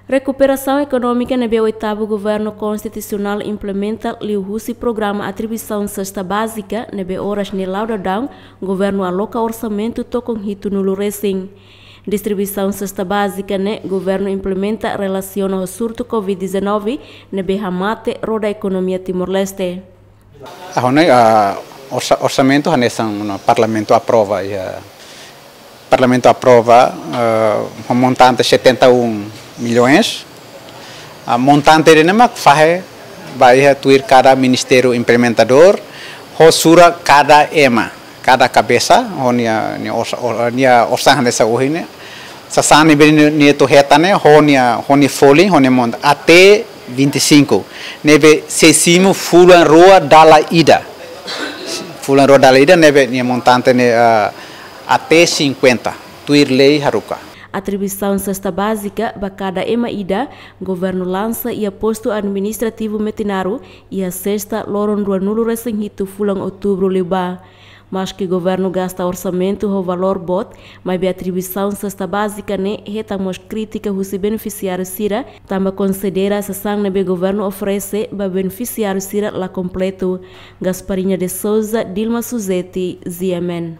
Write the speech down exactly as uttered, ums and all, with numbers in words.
Rekuperasaun ekonómika ne'ebé oitavu governu konstitusionál implementa liuhusi programa atribuisaun sesta bázika ne'ebé oras ne'e la'o daudaun governu aloka orsamentu tokon hitunulu resin. Distribuisaun sesta bázika ne'e governu implementa relasiona ho surtu covid dezanove ne'ebé hamate roda ekonomia Timor-Leste. Agora, ah, orsa-, orsamentu hanesan ona Parlamentu aprova, iha Parlamentu aprova, ah, ho montante setenta e um milhões. Ah, montante ne'e mak fahe ba iha tuir kada ministériu implementadór, ho sura kada ema, kada kabesa, ho nia, nia orsa-, or-, nia orsamentu hanesan ohin ne'e. Sasán ne'ebé nia, nia atu hetan ne'e, ho nia, ho nia folin, ho nia mont-, até vinte e cinco. Ne'ebé sei simu fulan rua dala ida. Fulan rua dala ida ne'ebé nia montante ne'e, ah, até cinquenta. Tuir lei haruka. Atribuisaun sesta bázika ba kada ema ida, governu lansa iha postu administrativu Metinaro, iha sesta loron ruanulu resin hitu fulan outubru liubá. Maske governu gasta orsamentu ho valór boot, maibé atribuisaun sesta bázika ne'e hetan mós krítika husi benefisiáriu sira, tanba konsidera sasán ne'ebé governu oferese ba benefisiáriu sira la kompletu. Gasparinha de Souza, Dilma Suzeti, G M N.